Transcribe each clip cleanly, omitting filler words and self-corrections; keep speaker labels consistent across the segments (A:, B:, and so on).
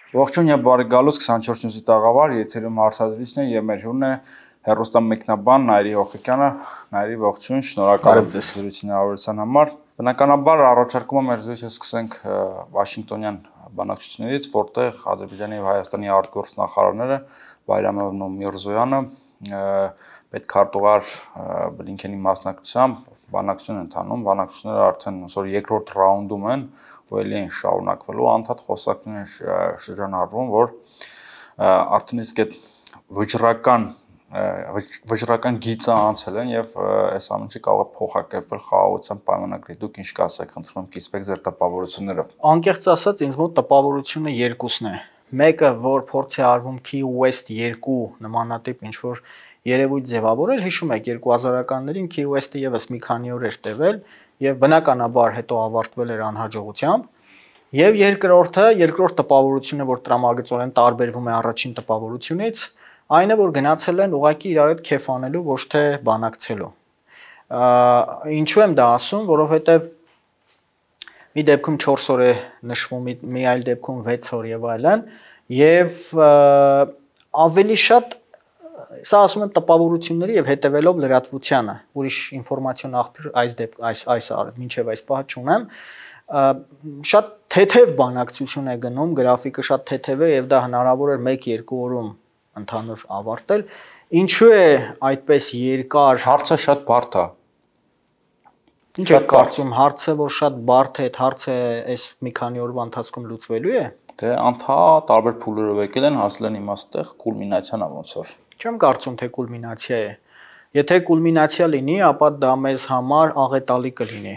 A: Ողջույն եւ բարի գալուց 24 նյութի տաղավար, եթերում հարցազրույցն է եւ մեր հյուրն է հեռուստամեկնաբան Նայիրի Հոխիկյանը։ Նայիրի ողջույն, շնորհակալ եմ զրույցին հաղորդության համար։ Բնականաբար առաջարկում եմ մեր զրույցը սկսենք Վաշինգտոնյան բանակցություններից, որտեղ Ադրբեջանի եւ Հայաստանի արտգործնախարարները Բայրամովն ու Միրզոյանը պետքարտուղար Բլինքենի մասնակցությամբ բանակցություն են տանում, բանակցությունները արդեն այսօր երկրորդ ռաունդում են, ու ելի են շարունակվելու, անդադ խոսակցություն են շրջանառվում, որ արդեն իսկ այդ վճռական գիծը անցել են եւ այս ամենը կարող է փոխակերպվել խաղաղության պայմանագրի։ Դուք ինչ կասեք, խնդրում եմ կիսվեք ձեր տպավորություններով։
B: Անկեղծ ասած, ինձ մոտ տպավորությունը երկուսն է։ Մեկը, որ փորձ է արվում Key West 2 նմանատիպ ինչ որ երևույթ ձևավորել, հիշում եք 2000-ականներին Key West-ը եւս մի քանի օր էր տևել եւ բնականաբար հետո ավարտվել էր անհաջողությամբ։ Եվ երկրորդ տպավորությունը, որ տրամագծորեն տարբերվում է առաջին տպավորությունից, այն է, որ գնացել են ուղղակի իրար հետ քեֆ անելու, ոչ թե բանակցելու։ Ինչու եմ դա ասում, որովհետեւ մի դեպքում 4 օր է նշվում, մի այլ դեպքում 6 օր եւ այլն, եւ ավելի շատ սա ասում եմ տպավորությունների եւ հետեւելով լրատվությանը, ուրիշ ինֆորմացիոն աղբյուր այս մինչեւ այս պահը չունեմ, շատ թեթև բանակցություն է գնում, գրաֆիկը շատ թեթև է եւ դա հնարավոր էր 1-2 օրում ընդհանուր ավարտել։ Ինչու է այդպես երկար։
A: Հարցը շատ բարդ է։
B: Ինչ եք կարծում, հարցը որ շատ բարդ է, այդ հարցը այս մի քանի օրվա ընթացքում լուծվելու է։
A: Դե անթա տարբեր փուլերով եկել են, հասել են իմաստեղ կուլմինացիան ոնց որ։
B: Չեմ կարծում թե կուլմինացիա է։ Եթե կուլմինացիա լինի, ապա դա մեզ համար աղետալի կլինի։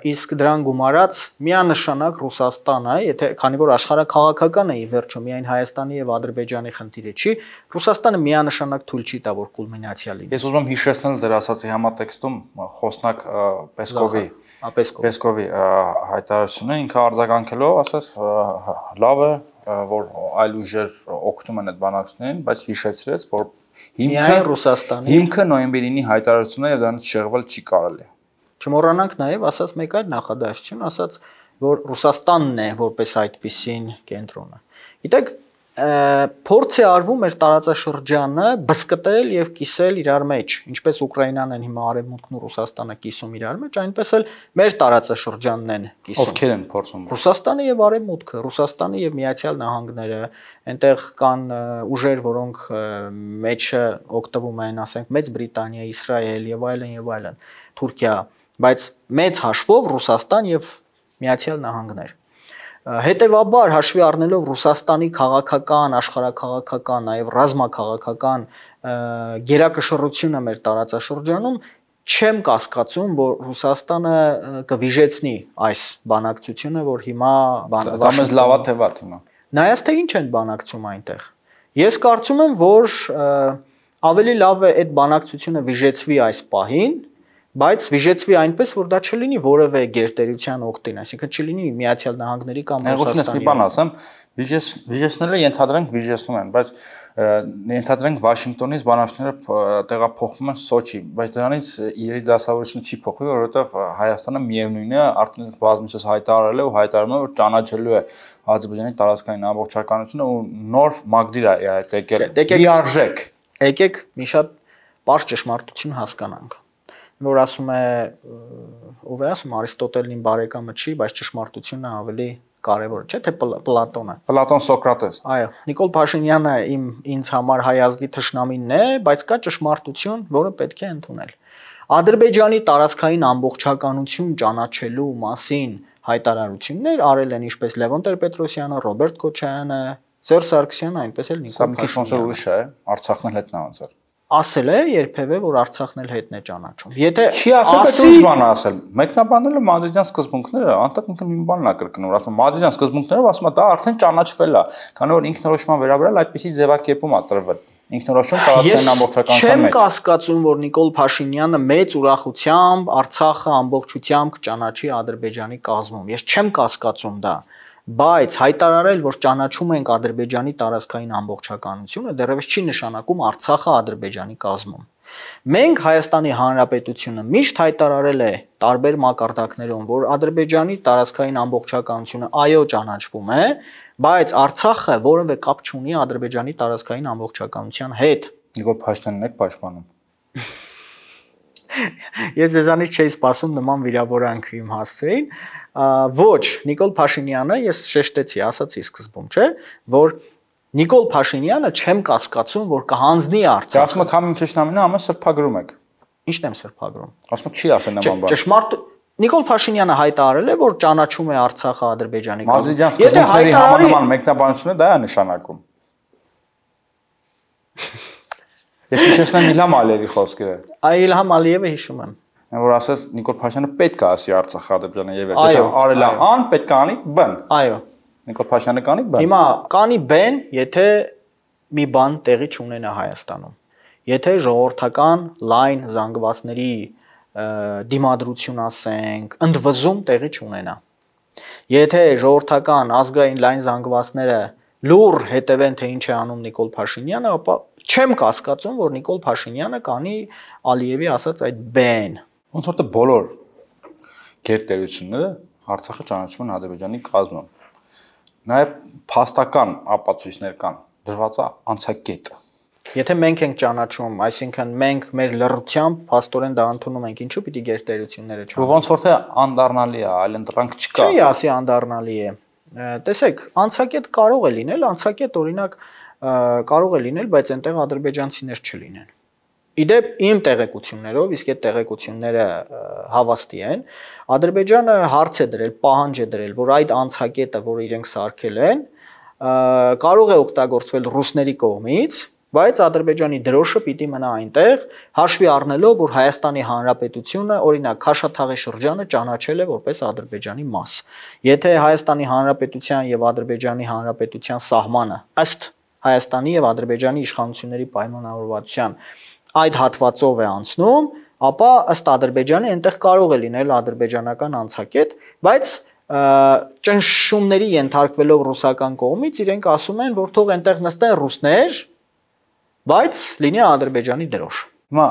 B: Իսկ դրան գումարած միանշանակ Ռուսաստանը, եթե քանի որ աշխարհաքաղաքական է ի վերջո միայն Հայաստանի եւ Ադրբեջանի խնդիրը չի, Ռուսաստանը միանշանակ թույլ չի տա որ կուլմինացիա լինի։
A: Ես ուզում եմ հիշեցնել դեր ասացի համատեքստում խոսնակ Պեսկովի հայտարարությունը, ինքը արձագանքելով ասաց լավ է, որ այլ ուժեր օգնում են այդ բանակցություններին, բայց հիշեցրեց, որ հիմքը նոյեմբերի 9-ի հայտարարությունն է եւ դրանից շեղվել չի կարելի։
B: Չմոռանանք նաև ասած մեկ այլ նախադասություն, ասած որ Ռուսաստանն է որպես այդպիսին կենտրոնը։ Գիտեք, փորձ է արվում մեր տարածաշրջանը բսկտել եւ կիսել իրար մեջ, ինչպես Ուկրաինան են հիմա Արևմուտքն ու Ռուսաստանը կիսում իրար մեջ, այնպես էլ մեր տարածաշրջանն են կիսում։
A: Ովքեր են փորձում։
B: Ռուսաստանը եւ Արևմուտքը, Ռուսաստանը եւ Միացյալ Նահանգները, այնտեղ կան ուժեր, որոնք մեջը օգտվում են, ասենք Մեծ Բրիտանիա, Իսրայել եւ այլն, Թուրքիա, բայց մեծ հաշվով Ռուսաստան եւ Միացյալ Նահանգներ։ Հետևաբար հաշվի առնելով Ռուսաստանի քաղաքական, աշխարհաքաղաքական, նաև ռազմաքաղաքական գերակշռությունը մեր տարածաշրջանում, չեմ կասկածում, որ Ռուսաստանը կվիժեցնի այս բանակցությունը, որ հիմա
A: բանակցում լավա թե վատ հիմա։
B: Նայած թե ինչ են բանակցում այնտեղ։ Ես կարծում եմ, որ ավելի լավ է այդ բանակցությունը վիժեցվի այս պահին, բայց վիժեցվի այնպես, որ դա չլինի որևէ գերտերության օգտին, այսինքն չլինի Միացյալ Նահանգների կամ
A: Ռուսաստանի։ Մի բան ասեմ, վիժեցնելը ենթադրենք վիժեցնում են, բայց ենթադրենք Վաշինգտոնից բանակցությունները տեղափոխվում են Սոչի, բայց դրանից իրերի դասավորությունը չի փոխվի, որովհետև Հայաստանը միևնույնն է, արդեն բազմիցս հայտարարել է ու հայտարարում է, որ ճանաչելու է Ադրբեջանի տարածքային ամբողջականությունը ու նոր մագդիր է այդ եկել։ Լիարժեք։
B: Եկեք մի շատ պարզ ճշմարտություն հասկանանք, որ ասում է, ով է ասում Արիստոտելին բարեկամը չի, բայց ճշմարտությունը ավելի կարևոր է, չէ՞ թե Պլատոնը։
A: Պլատոն Սոկրատես։
B: Այո, Նիկոլ Փաշինյանը ինձ համար հայ ազգի թշնամին է, բայց կա ճշմարտություն, որը պետք է ընդունել։ Ադրբեջանի տարածքային ամբողջականություն ճանաչելու մասին հայտարարություններ արել են ինչպես Լևոն Տեր-Պետրոսյանը, Ռոբերտ Քոչարյանը, Սերժ Սարգսյանը, այնպես էլ Նիկոլ
A: Փաշինյանը։ Ուրիշ է, Արցախն էլ հետն անցար։
B: Ասել է երբևէ, որ Արցախն էլ հետն է ճանաչում։ Եթե
A: չի ասել, պետք է բան ասել։ Մեկնաբանելը Մադրիդյան սկզբունքները, անտակ ինքը մի բանն է կրկնում, ասում Մադրիդյան սկզբունքներով ասում է դա արդեն ճանաչվել է, քանի որ ինքնորոշման վերաբերյալ այդպիսի ձևակերպում է տրվել։ Ինքնորոշում տարածքային ամբողջականության մեջ։
B: Չեմ կասկածում, որ Նիկոլ Փաշինյանը մեծ ուրախությամբ Արցախը ամբողջությամբ կճանաչի Ադրբեջանի կազմում։ Ես չեմ կասկածում դա, բայց հայտարարել, որ ճանաչում ենք Ադրբեջանի տարածքային ամբողջականությունը, դեռևս չի նշանակում Արցախը Ադրբեջանի կազմում։ Մենք Հայաստանի Հանրապետությունը միշտ հայտարարել է տարբեր մակարդակներում, որ Ադրբեջանի տարածքային ամբողջականությունը այո ճանաչվում է, բայց Արցախը որևէ կապ չունի Ադրբեջանի տարածքային ամբողջականության հետ։
A: Նիկոլ Փաշինյանն է պաշտպանում։
B: Ես ձեզանից չէի սպասում նման վիրավորանք իմ հասցեին, ոչ, Նիկոլ Փաշինյանը, ես շեշտեցի, ասացի սկզբում, չէ, որ Նիկոլ Փաշինյանը չեմ կասկածում, որ կհանձնի Արցախը։
A: Ասում եք համին ճշտամինը ամեն սրբագրում եք։
B: Ինչն եմ սրբագրում։
A: Ասում եք չի ասել նման բան։
B: Ճշմարտ Նիկոլ Փաշինյանը հայտարարել է, որ ճանաչում է Արցախը Ադրբեջանի
A: կազմում։ Եթե հայտարարի մեկնաբանությունը դա է նշանակում։ Ես հիշեցնեմ Իլհամ Ալիևի խոսքերը։
B: Այ Իլհամ Ալիևը հիշում եմ։
A: Որ ասես Նիկոլ Փաշինյանը պետք է ասի Արցախը Ադրբեջանը եւ եթե արել է ան, պետք է անի բ։
B: Այո։
A: Նիկոլ Փաշինյանը կանի բ։
B: Հիմա կանի բ, եթե մի բան տեղի չունենա Հայաստանում։ Եթե ժողովրդական լայն զանգվածների դիմադրություն ասենք, ընդվզում տեղի չունենա։ Եթե ժողովրդական ազգային լայն զանգվածները լուր հետևեն թե ինչ է անում Նիկոլ Փաշինյանը, ապա չեմ կասկածում, որ Նիկոլ Փաշինյանը կանի Ալիևի ասած այդ բեն։
A: Ոնց որ բոլոր գերտերությունները Արցախը ճանաչում են Ադրբեջանի կազմում։ Նաև փաստական ապացույցներ կան, դրված է անցակետ։
B: Եթե մենք ենք ճանաչում, այսինքն մենք մեր լռությամբ փաստորեն դա ընդունում ենք, ինչու պիտի գերտերությունները
A: ճանաչեն։ Ոնց որ թե անդառնալի է, այլ ընտրանք չկա։
B: Չի ասի անդառնալի է։ Տեսեք, անցակետ կարող է լինել, անցակետ օրինակ կարող է լինել, բայց այնտեղ ադրբեջանցիներ չլինեն։ Իդեպ իմ տեղեկություններով, իսկ այդ տեղեկությունները հավաստի են, Ադրբեջանը հարց է դրել, պահանջ է դրել, որ այդ անցակետը, որ իրենք սարքել են, կարող է օգտագործվել ռուսների կողմից, բայց Ադրբեջանի դրոշը պիտի մնա այնտեղ, հաշվի առնելով, որ Հայաստանի Հանրապետությունը, օրինակ Քաշաթաղի շրջանը ճանաչել է որպես Ադրբեջանի մաս։ Եթե Հայաստանի Հանրապետության եւ Ադրբեջանի Հանրապետության սահմանը ըստ Հայաստանի եւ Ադրբեջանի իշխանությունների պայմանավորվածության այդ հատվածով է անցնում, ապա ըստ Ադրբեջանի այնտեղ կարող է լինել ադրբեջանական անցակետ, բայց ճնշումների ենթարկվելով ռուսական կողմից իրենք ասում են, որ թող այնտեղ նստեն ռուսներ, բայց լինի Ադրբեջանի դրոշ։
A: Հիմա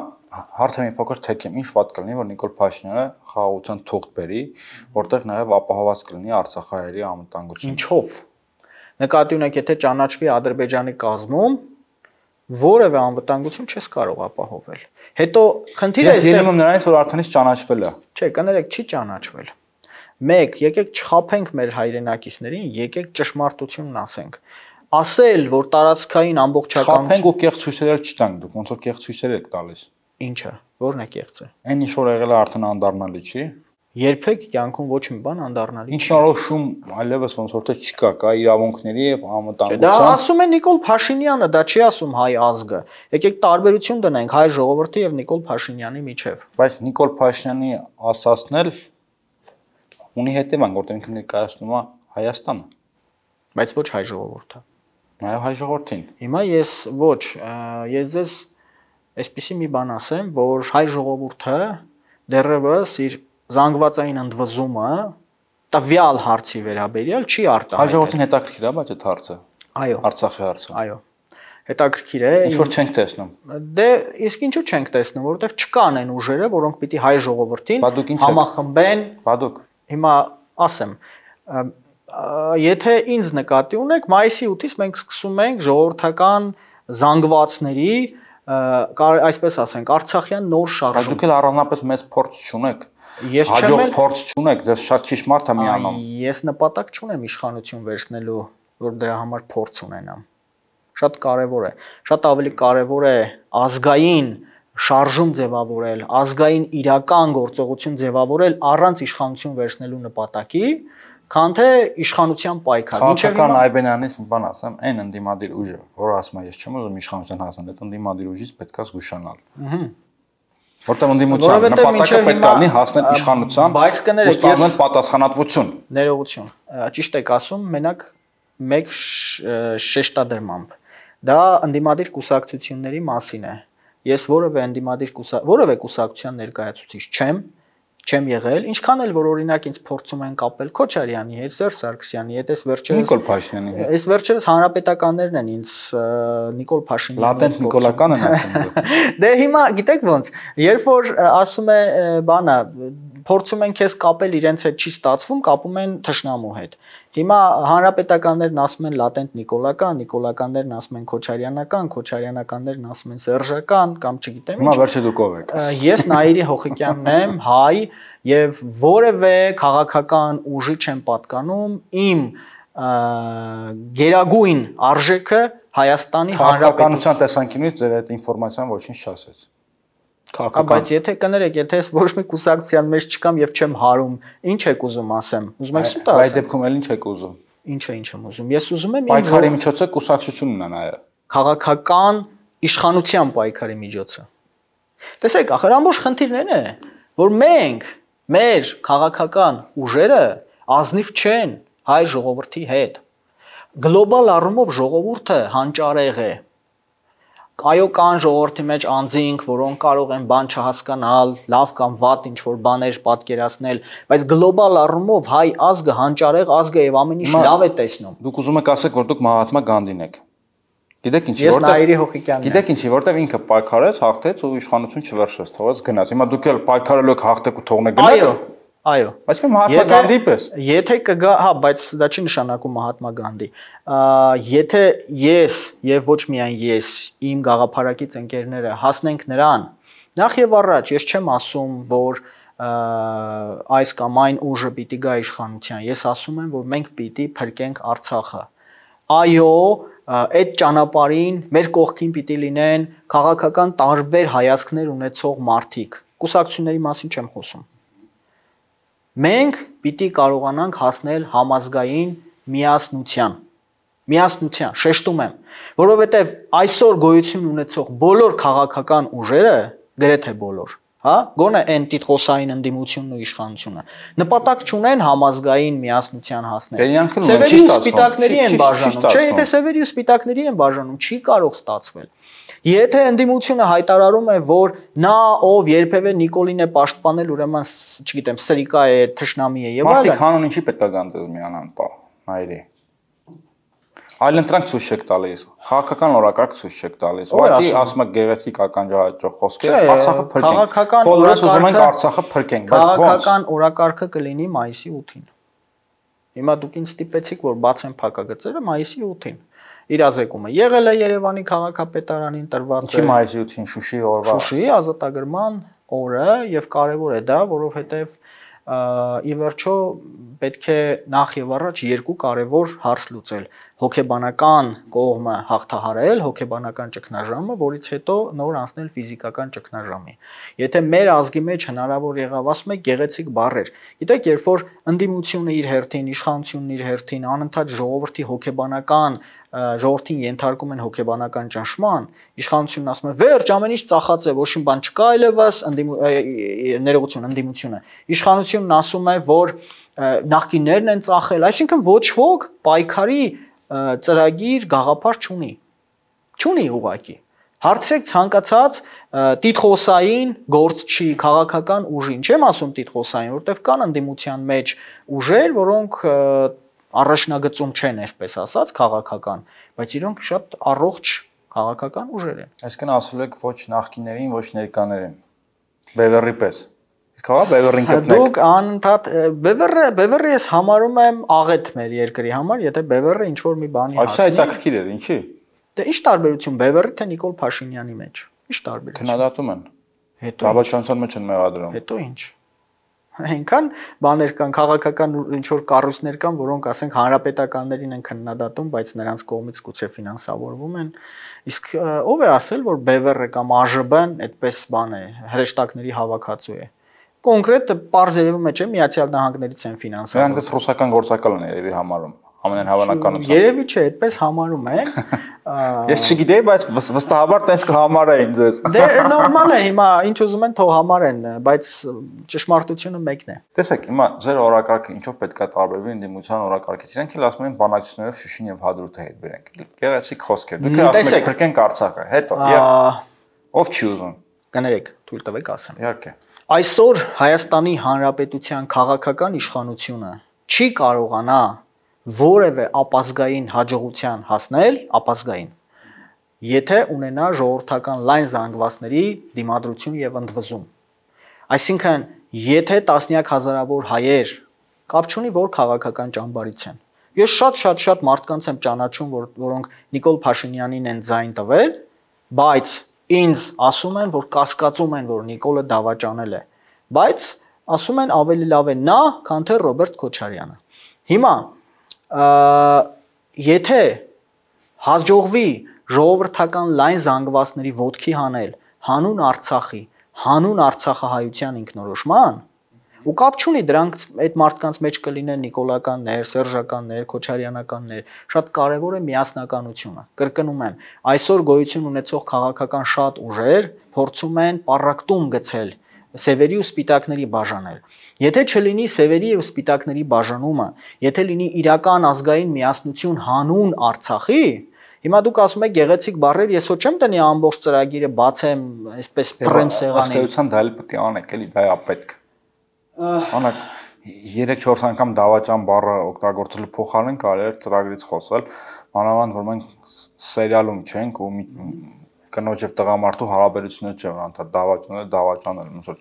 A: հարցը մի փոքր թեքեմ, ինչ վատ կլինի, որ Նիկոլ Փաշինյանը խաղաղության թուղթ բերի, որտեղ նաև ապահովված կլինի արցախահայերի անվտանգությունը։
B: Ինչով։ Նկատի ունեք, եթե ճանաչվի Ադրբեջանի կազմում, որևէ անվտանգություն չես կարող ապահովել։ Հետո խնդիրը
A: այստեղ ելնում նրանից, որ արդեն ճանաչվել է։
B: Չէ, կներեք, չի ճանաչվել։ Մեկ, եկեք չխափենք մեր հայրենակիցներին, եկեք ճշմարտությունն ասենք։ Ասել, որ տարածքային ամբողջականություն
A: խափենք ու կեղծ ցույցեր չտանք, դուք ոնց որ կեղծ ցույցեր եք տալիս։
B: Ինչը, ո՞րն է կեղծը։
A: Այն ինչ որ եղել է արդեն անդառնալի չի։
B: Երբեք կյանքում ոչ մի բան անդառնալի չի։
A: Ինչնորոշում այլևս ոնց որ թե չկա, կա իրավունքների եւ անվտանգության։
B: Դա ասում է Նիկոլ Փաշինյանը, դա չի ասում հայ ազգը։ Եկեք տարբերություն դնենք հայ ժողովրդի եւ Նիկոլ Փաշինյանի միջև։
A: Բայց Նիկոլ Փաշինյանի ասածն էլ ունի հետևանք, որտեղ ինքը ներկայացնում է Հայաստանը,
B: բայց ոչ հայ ժողովուրդը։
A: Նաեւ հայ ժողովրդին։
B: Հիմա ես ձեզ այսպեսի մի բան ասեմ, որ հայ ժողովուրդը դեռևս իր զանգվածային ընդվզումը տվյալ հարցի վերաբերյալ չի արտահայտել։
A: Հայ ժողովրդին հետաքրքիր է, բայց այդ հարցը։
B: Այո։
A: Արցախի հարցը։
B: Այո։ Հետաքրքիր է։
A: Ինչ որ չենք տեսնում։
B: Դե իսկ ինչու չենք տեսնում, որովհետև չկան այն ուժերը, որոնք պիտի հայ ժողովրդին համախմբեն։
A: Բադուկ։
B: Հիմա ասեմ, եթե ինձ նկատի ունեք, մայիսի 8-ից մենք սկսում ենք ժողովրդական զանգվածների, այսպես ասենք, Արցախյան նոր շարժում։
A: Դուք էլ առանձնապես մեծ փորձ չունեք։
B: Ես չեմ
A: հաջող փորձ չունեք, ձեզ շատ ճիշտ մարդ է միանում։
B: Ես նպատակ չունեմ իշխանություն վերցնելու, որ դրա համար փորձ ունենամ։ Շատ կարևոր է։ Շատ ավելի կարևոր է ազգային շարժում ձևավորել, ազգային իրական գործողություն ձևավորել առանց իշխանություն վերցնելու նպատակի, քան թե իշխանության պայքար։
A: Քաղաքական Այբենյանից մի բան ասեմ, այն ընդդիմադիր ուժը, որ ասում է, ես չեմ ուզում իշխանության հասնել, այդ ընդդիմադիր ուժից պետք է զգուշանալ։ Որտեղ ընդդիմության նպատակը պետք է լինի հասնել իշխանության,
B: բայց կներեք,
A: ես պատասխանատվություն։
B: Ներողություն։ Ճիշտ եք ասում, մենակ մեկ շեշտադրմամբ։ Դա ընդդիմադիր կուսակցությունների մասին է։ Ես որևէ կուսակցության ներկայացուցիչ չեմ, չեմ եղել, ինչքան էլ որ օրինակ ինձ փորձում են կապել Քոչարյանի հետ, Սերժ Սարգսյանի հետ, այս վերջերս
A: Նիկոլ Փաշինյանի հետ։
B: Այս վերջերս հանրապետականներն են ինձ Նիկոլ Փաշինյանի
A: լատենտ նիկոլական են ասում։
B: Դե հիմա գիտեք ոնց, երբ որ ասում է բանը փորձում են քեզ կապել իրենց հետ չի ստացվում, կապում են թշնամու հետ։ Հիմա հանրապետականներն ասում են լատենտ նիկոլական, նիկոլականներն ասում են քոչարյանական, քոչարյանականներն ասում են սերժական կամ չգիտեմ ինչ։
A: Հիմա վերջը դուք ով եք։
B: Ես Նաիրի Հոխիկյանն եմ, հայ, եւ որևէ քաղաքական ուժի չեմ պատկանում, իմ գերագույն արժեքը Հայաստանի
A: Հանրապետության տեսանկյունից ձեր այդ ինֆորմացիան ոչինչ չասեց։
B: Բայց եթե կներեք, եթե ես ոչ մի կուսակցության մեջ չկամ եւ չեմ հարում, ինչ եք ուզում ասեմ։ Ուզում եք սուտ ասեմ։
A: Այդ դեպքում էլ ինչ եք ուզում։
B: Ինչ եմ ուզում։ Ես ուզում եմ
A: պայքարի միջոցը կուսակցությունն է նաեւ։
B: Քաղաքական իշխանության պայքարի միջոցը։ Տեսեք, ախր ամբողջ խնդիրն է, որ մենք մեր քաղաքական ուժերը ազնիվ չեն հայ ժողովրդի հետ։ Գլոբալ առումով ժողովուրդը հանճարեղ է։ Այո, կան ժողովրդի մեջ անձինք, որոնք կարող են բան չհասկանալ, լավ կամ վատ ինչ որ բաներ պատկերացնել, բայց գլոբալ առումով հայ ազգը հանճարեղ ազգ է եւ ամեն ինչ լավ է տեսնում։
A: Դուք ուզում եք ասեք, որ դուք Մահատմա Գանդին եք։ Գիտեք ինչի,
B: Ես Նաիրի Հոխիկյանն եմ։
A: Գիտեք ինչի, որտեվ ինքը պայքարեց, հաղթեց ու իշխանություն չվերցրեց, թողեց գնաց։ Հիմա դուք էլ պայքարելու եք, հաղթեք ու թողնեք գնաք։
B: Այո։
A: Բայց Մահատմա Գանդի պես։
B: Եթե կգա, հա, բայց դա չի նշանակում Մահատմա Գանդի։ Եթե ես եւ ոչ միայն ես, իմ գաղափարակից ընկերները հասնենք նրան, նախ եւ առաջ ես չեմ ասում, որ այս կամ այն ուժը պիտի գա իշխանության։ Ես ասում եմ, որ մենք պիտի փրկենք Արցախը։ Այո, այդ ճանապարհին մեր կողքին պիտի լինեն քաղաքական տարբեր հայացքներ ունեցող մարդիկ։ Կուսակցությունների մասին չեմ խոսում։ Մենք պիտի կարողանանք հասնել համազգային միասնության, շեշտում եմ, որովհետև այսօր գոյություն ունեցող բոլոր քաղաքական ուժերը, գրեթե բոլոր, հա, գոնե այն տիտղոսային ընդդիմությունն ու իշխանությունը, նպատակ չունեն համազգային միասնության հասնել։ Սևերի ու սպիտակների են բաժանում, չէ, եթե սևերի ու սպիտակների են բաժանում, չի կարող ստացվել։ Եթե ընդդիմությունը հայտարարում է, որ նա ով երբևէ Նիկոլին է պաշտպանել, ուրեմն, չգիտեմ, սրիկա է, թշնամի է եւ այլն։
A: Մարդիկ հանուն ինչի պետք է գան դες միանան, պա, Նաիրի։ Այլընտրանք ցույց չեք տալիս, քաղաքական օրակարգ ցույց չեք տալիս։ Ուղղակի ասում եք գեղեցիկ ականջահաճող խոսքեր, Արցախը փրկենք։ Բոլորս ուզում ենք Արցախը փրկենք, բայց ո՞նց։
B: Քաղաքական օրակարգը կլինի մայիսի 8-ին։ Հիմա դուք ինձ ստիպեցիք, որ բացեմ փակագծերը մայիսի 8-ին։ Իրազեկումը եղել է Երևանի քաղաքապետարանին տրված
A: է մայիսի 8-ին Շուշիի օրվա
B: Շուշիի ազատագրման օրը եւ կարեւոր է դա, որովհետեւ ի վերջո պետք է նախ եւ առաջ երկու կարևոր հարց լուծել հոգեբանական կողմը հաղթահարել հոգեբանական ճգնաժամը, որից հետո նոր անցնել ֆիզիկական ճգնաժամի։ Եթե մեր ազգի մեջ հնարավոր եղավ, ասում եք գեղեցիկ բառեր։ Գիտեք, երբ որ ընդդիմությունը իր հերթին, իշխանությունն իր հերթին անընդհատ ժողովրդի հոգեբանական ժողովրդին ենթարկում են հոգեբանական ճնշման, իշխանությունն ասում է վերջ ամեն ինչ ծախած է, ոչ մի բան չկա այլևս, ընդդիմությունը։ Իշխանությունն ասում է, որ նախկիններն են ծախել, այսինքն ոչ ոք պայքարի ծրագիր գաղափար չունի ուղղակի։ Հարցրեք ցանկացած տիտղոսային գործչի, քաղաքական ուժին, չեմ ասում տիտղոսային, որովհետև կան ընդդիմության մեջ ուժեր, որոնք առաջնագծում չեն, այսպես ասած, քաղաքական, բայց իրենք շատ առողջ քաղաքական ուժեր են։
A: Այսինքն ասել եք ոչ նախկիներին, ոչ ներկաներին։ Բևեռի պես։ Իսկ հա Բևեռին գտնեք։
B: Դուք անընդհատ Բևեռը ես համարում եմ աղետ մեր երկրի համար, եթե Բևեռը ինչ որ մի բանի
A: հասնի։ Այս հետաքրքիր է, ինչի։
B: Դե ինչ տարբերություն Բևեռի թե Նիկոլ Փաշինյանի մեջ։ Ինչ տարբերություն։
A: Քննադատում են։
B: Հետո
A: Ռաբաչանցան մեջ են մեղադրում։
B: Հետո ինչ։ Այնքան բաներ կան, քաղաքական ինչ որ կառույցներ կան, որոնք ասենք հանրապետականներին են քննադատում, բայց նրանց կողմից գուցե ֆինանսավորվում են։ Իսկ ով է ասել, որ Բևեռը կամ ԱԺԲ-ն այդպես բան է, հրեշտակների հավաքածու է։ Կոնկրետ պարզ երևում է, չէ, Միացյալ Նահանգներից են ֆինանսավորում։
A: Նրանք դες ռուսական գործակալ են երևի համարում։ Ամենայն հավանականությամբ։
B: Երևի չէ, այդպես համարում են։
A: Ես չգիտեի, բայց վստահաբար տես կհամարային ձեզ։
B: Դե նորմալ է, հիմա ինչ ուզում են թող համարեն, բայց ճշմարտությունը մեկն է։
A: Տեսեք, հիմա ձեր օրակարգը ինչով պետք է տարբերվի ընդդիմության օրակարգից։ Իրենք էլ ասում են բանակցություններով Շուշին եւ Հադրութը հետ բերենք։ Գեղեցիկ խոսքեր։ Դուք ասում եք փրկենք Արցախը, հետո ով չի ուզում։
B: Կներեք, թույլ տվեք ասեմ։
A: Իհարկե։
B: Այսօր Հայաստանի Հանրապետության քաղաքական իշխանությունը չի կարողանա որևէ ապազգային հաջողության հասնել, ապազգային, եթե ունենա ժողովրդական լայն զանգվածների դիմադրություն եւ ընդվզում։ Այսինքն, եթե տասնյակ հազարավոր հայեր կապ չունի որ քաղաքական ճամբարից են։ Ես շատ մարդկանց եմ ճանաչում, որոնք Նիկոլ Փաշինյանին են ձայն տվել, բայց ինձ ասում են, որ կասկածում են, որ Նիկոլը դավաճանել է, բայց ասում են ավելի լավ է նա, քան թե Ռոբերտ Քոչարյանը։ Հիմա եթե հաջողվի ժողովրդական լայն զանգվածների ոտքի հանել հանուն Արցախի, հանուն Արցախահայության ինքնորոշման, ու կապ չունի դրանք այդ մարդկանց մեջ կլինեն նիկոլականներ, սերժականներ, քոչարյանականներ, շատ կարևոր է միասնականությունը։ Կրկնում եմ, այսօր գոյություն ունեցող քաղաքական շատ ուժեր փորձում են պառակտում գցել սևերի ու սպիտակների բաժանել։ Եթե չլինի սևերի ու սպիտակների բաժանումը, եթե լինի իրական ազգային միասնություն հանուն Արցախի, հիմա դուք ասում եք գեղեցիկ բառեր, ես ոչ չեմ տնի ամբողջ ծրագիրը բացեմ, այսպես փռեմ սեղանին։
A: Ըստեյության դա էլ պետք է անեք, էլի դա է պետք։ Անակ 3-4 անգամ դավաճան բառը օգտագործելու փոխարեն կարելի է ծրագրից խոսել, մանավանդ որ մենք սերիալում չենք ու կնոջ եւ տղամարդու հարաբերությունները չէ, որ անդադ դավաճանել, ոնց որ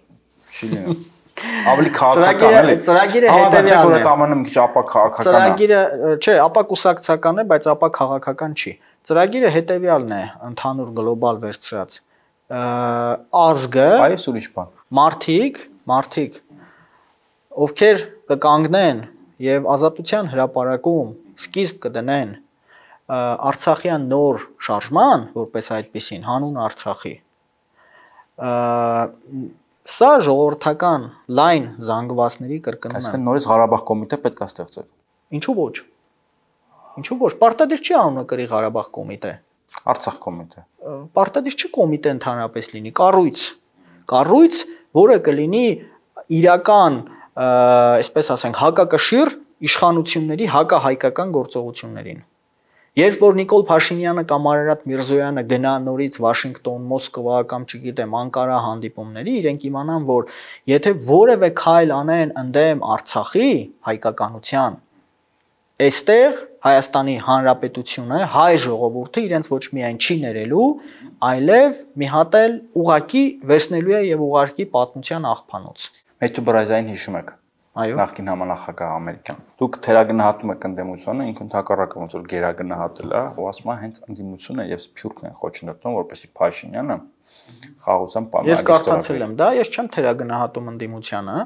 A: չի լինում։ Ավելի քաղաքական է։ Ծրագիրը հետեւյալն է։ Ամենը մի քիչ ապա քաղաքական է։ Ծրագիրը,
B: չէ, ապա կուսակցական է, բայց ապա քաղաքական չի։ Ծրագիրը հետեւյալն է, ընդհանուր գլոբալ վերցրած։ Ազգը,
A: այս ուրիշ բան։
B: Մարդիկ ովքեր կկանգնեն եւ ազատության հրապարակում սկիզբ կդնեն Արցախյան նոր շարժման, որպես այդպեսին հանուն Արցախի, սա ժողովրդական լայն զանգվածների կրկնում է։
A: Այսինքն նորից Ղարաբաղ կոմիտե պետք է ստեղծել։
B: Ինչու ոչ, պարտադիր չի անունը կրի Ղարաբաղ կոմիտե։
A: Արցախ կոմիտե։
B: Պարտադիր չի կոմիտե ընդհանրապես լինի, կառույց, որը կլինի իրական, այսպես ասենք, հակակշիռ իշխանությունների հակահայկական գործողություններին։ Երբ որ Նիկոլ Փաշինյանը կամ Արարատ Միրզոյանը գնա նորից Վաշինգտոն, Մոսկվա կամ չգիտեմ Անկարա հանդիպումների, իրենք իմանան, որ եթե որևէ քայլ անեն ընդդեմ Արցախի հայկականության, այստեղ Հայաստանի Հանրապետությունը, հայ ժողովուրդը իրենց ոչ միայն չի ներելու, այլև մի հատ էլ ուղակի վերցնելու է եւ ուղարկի պատմության աղբանոց։
A: Մեթու Բրազային հիշում եք։
B: Այո։
A: Նախկին համանախագահ ամերիկյան։ Դուք թերագնահատում եք ընդդիմությունը, ինքն ընդհակառակը ոնց որ գերագնահատել է, ու ասում է հենց ընդդիմությունը եւ Սփյուռքն են խոչընդոտում, որպեսզի Փաշինյանը խաղաղության պայմանագրի։
B: Ես կարդացել եմ դա, ես չեմ թերագնահատում ընդդիմությանը։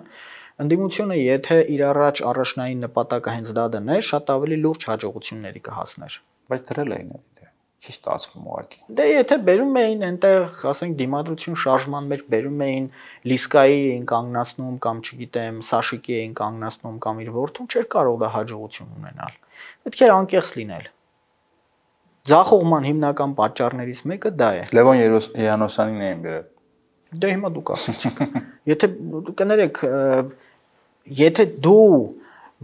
B: Ընդդիմությունը եթե իր առաջնային նպատակը հենց դա դներ, շատ ավելի լուրջ հաջողությունների կհասներ։
A: Բայց դրել էին դա։ Չի ստացվում ուղղակի։
B: Դե եթե բերում էին այնտեղ, ասենք դիմադրություն շարժման մեջ բերում էին Լիսկայի էին կանգնացնում կամ չգիտեմ Սաշիկի էին կանգնացնում կամ իր որդուն, չէր կարող դա հաջողություն ունենալ։ Պետք էր անկեղծ լինել։ Ձախողման հիմնական պատճառներից մեկը դա է։
A: Լևոն Երանոսյանին էին բերել։
B: Դե հիմա դուք ասացիք։ Եթե կներեք, եթե դու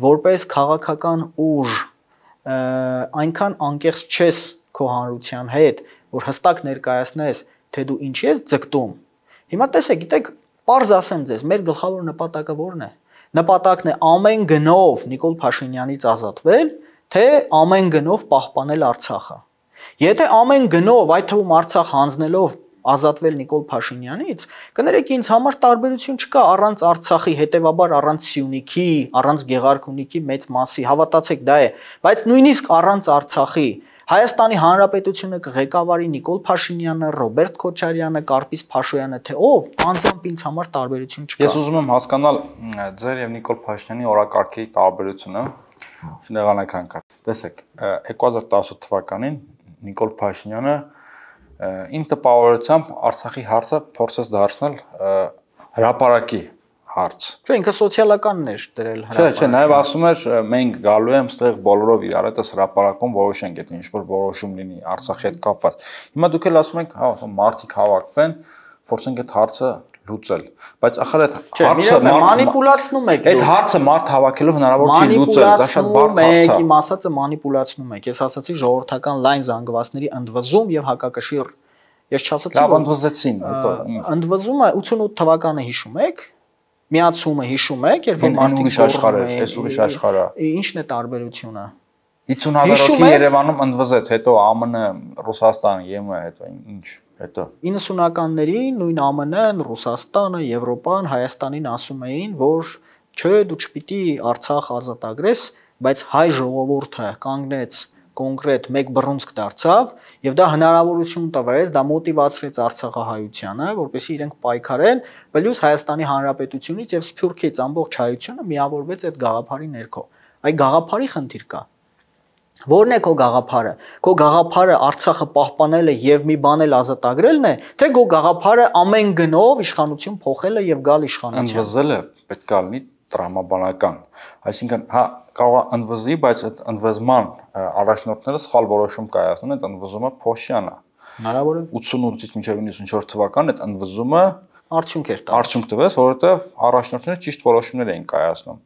B: որպես քաղաքական ուժ այնքան անկեղծ չես քո հանրության հետ, որ հստակ ներկայացնես, թե դու ինչի ես ձգտում։ Հիմա տեսեք, գիտեք, պարզ ասեմ ձեզ, մեր գլխավոր նպատակը ո՞րն է։ Նպատակն է ամեն գնով Նիկոլ Փաշինյանից ազատվել, թե ամեն գնով պահպանել Արցախը։ Եթե ամեն գնով, այդ թվում Արցախ հանձնելով ազատվել Նիկոլ Փաշինյանից, կներեք ինձ համար տարբերություն չկա առանց Արցախի, հետևաբար առանց Սյունիքի, առանց Գեղարքունիքի մեծ մասի, հավատացեք դա է, բայց նույնիսկ առանց Արցախի Հայաստանի Հանրապետությունը կղեկավարի Նիկոլ Փաշինյանը, Ռոբերտ Քոչարյանը, Կարպիս Փաշոյանը, թե ով, անձամբ ինձ համար տարբերություն չկա։
A: Ես ուզում եմ հասկանալ ձեր եւ Նիկոլ Փաշինյանի օրակարգի տարբերությունը շնեղանական կարգ։ Տեսեք, 2018 թվականին Նիկոլ Փաշինյանը իմ տպավորությամբ Արցախի հարցը փորձեց դարձնել հրապարակի հարց։
B: Չէ, ինքը սոցիալականն էր դրել
A: հրապարակը։ Չէ, նաեւ ասում էր մենք գալու եմ ստեղ բոլորով իրար հետս հրապարակում որոշենք, եթե ինչ-որ որոշում լինի Արցախի հետ կապված։ Հիմա դուք էլ ասում եք, հա, մարդիկ հավաքվեն, փորձենք այդ հարցը լուծել, բայց ախր այդ հարցը
B: մանիպուլացնում եք։
A: Այդ հարցը մարդ հավաքելով հնարավոր չի լուծել, դա շատ բարդ հարց է։
B: Իմ ասածը մանիպուլացնում եք։ Ես ասացի ժողովրդական լայն զանգվածների ընդվզում եւ հակակշիռ Ես չասացի
A: լավ ընդվզեցին, հետո
B: ընդվզումը 88 թվականը հիշում եք, միացումը հիշում եք, երբ որ
A: մարդիկ ուրիշ աշխարհ էր, այս ուրիշ աշխարհ է։
B: Ինչն է տարբերությունը։
A: 50,000 հոգի Երևանում ընդվզեց, հետո ԱՄՆ, Ռուսաստան, ԵՄ, հետո ինչ, հետո
B: 90-ականներին նույն ԱՄՆ-ն, Ռուսաստանը, Եվրոպան Հայաստանին ասում էին, որ չէ, դու չպիտի Արցախ ազատագրես, բայց հայ ժողովուրդը կանգնեց կոնկրետ մեկ բռունցք դարձավ եւ դա հնարավորություն տվեց, դա մոտիվացրեց Արցախահայությանը, որպեսզի իրենք պայքարեն, պլյուս Հայաստանի Հանրապետությունից եւ Սփյուռքից ամբողջ հայությունը միավորվեց այդ գաղափարի ներքո։ Այդ գաղափարի խնդիր կա։ Որն է քո գաղափարը։ Քո գաղափարը Արցախը պահպանելը եւ մի բան էլ ազատագրելն է, թե քո գաղափարը ամեն գնով իշխանություն փոխելը եւ գալ իշխանության։
A: Ընդվզելը պետք է լինի տրամաբանական, այսինքն հա կարող է ընդվզի, բայց այդ ընդվզման առաջնորդները սխալ որոշում կայացնում են, այդ ընդվզումը փոշյան է։
B: Հնարավոր է
A: 88-ից մինչև 94 թվական այդ ընդվզումը
B: արդյունք էր տալիս։
A: Արդյունք տվեց, որովհետև առաջնորդները ճիշտ որոշումներ էին կայացնում,